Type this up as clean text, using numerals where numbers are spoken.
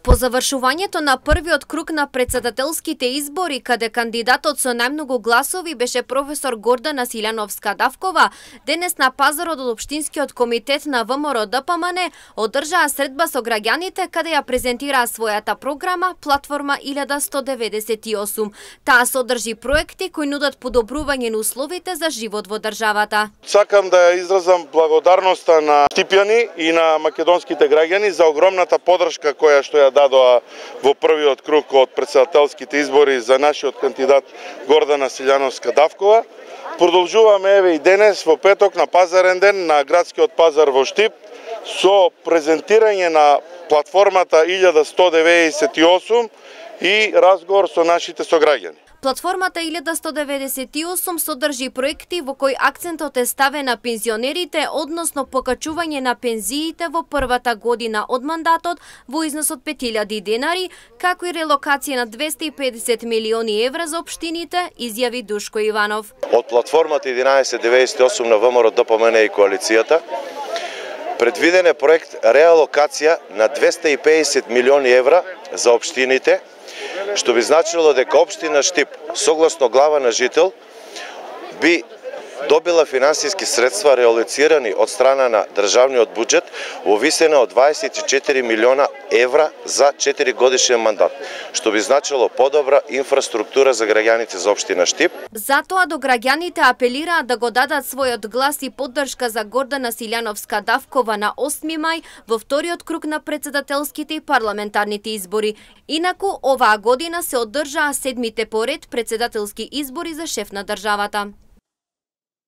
По завршувањето на првиот круг на претседателските избори, каде кандидатот со најмногу гласови беше професор Гордана Силјановска-Давкова, денес на пазарот од Општинскиот комитет на ВМРО ДПМН одржаа средба со граѓаните каде ја презентираа својата програма Платформа 1198. Таа содржи проекти кои нудат подобрување на условите за живот во државата. Сакам да ја изразам благодарноста на Штипјани и на македонските граѓани за огромната поддршка која што ја дадоа во првиот круг од претседателските избори за нашиот кандидат Гордана Силјановска-Давкова. Продолжуваме еве и денес во петок на пазарен ден на градскиот пазар во Штип со презентирање на платформата 1198 и разговор со нашите сограѓани. Платформата 1198 содржи проекти во кои акцентот е ставен на пензионерите, односно покачување на пензиите во првата година од мандатот во износ од 5000 денари, како и релокација на 250 милиони евра за општините, изјави Душко Иванов. Од платформата 1198 на ВМРО ДПМН и коалицијата предвиден е проект реалокација на 250 милиони евра за општините, што би значило дека општина Штип, согласно глава на жител, би добила финансиски средства реалоцирани од страна на државниот буџет во висина од 24 милиона евра за 4 годишен мандат, што би значило подобра инфраструктура за граѓаните за општина Штип. Затоа до граѓаните апелираат да го дадат својот глас и поддршка за Гордана Силјановска-Давкова на 8 мај во вториот круг на претседателските и парламентарните избори. Инаку оваа година се одржаа 7-мите поред претседателски избори за шеф на државата.